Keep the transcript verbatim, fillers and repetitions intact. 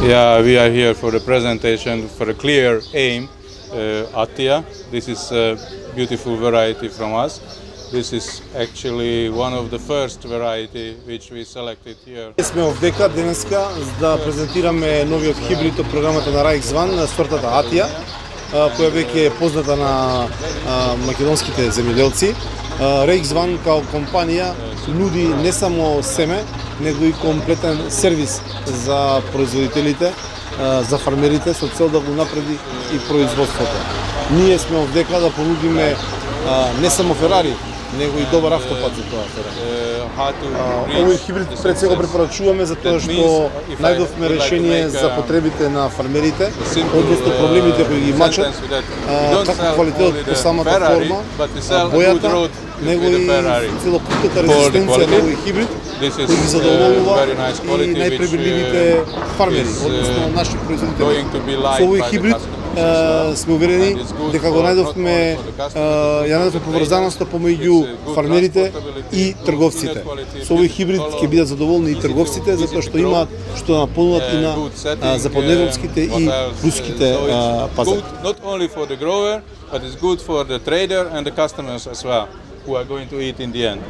Yeah, we are here for the presentation for a clear aim, uh, Attia. This is a beautiful variety from us. This is actually one of the first variety which we selected here. Сме овдека денеска за да презентираме новиот хибрид од програмата на Райкс Ван, сортата Атија, која веќе е позната на македонските земјоделци. Райкс Ван као компанија нуди не само семе, него и комплетен сервис за производителите, за фармерите, со цел да го напреди и производството. Ние сме овдека да понудиме не само Ферари, него и добар автопат за тоа. Овој хибрид пред се го препорачуваме за тоа што најдовме решение за потребите на фармерите, односно проблемите кои ги мачат, како квалитетот по самата форма, бојата, него и целокупната резистенција на овој хибрид, кој ги задоволува и најпребирливите фармери, односно наши производители. Со овој хибрид сме уверени дека го најдовме, ја најдовме поврзаноста помеѓу фармерите и трговците. Со овој хибрид ќе бидат задоволни и трговците, затоа што имаат што да понудат и на западноевропските и руските пазари. Not only for the grower, but it's good for the trader and the customers as well, who are going to eat in the end.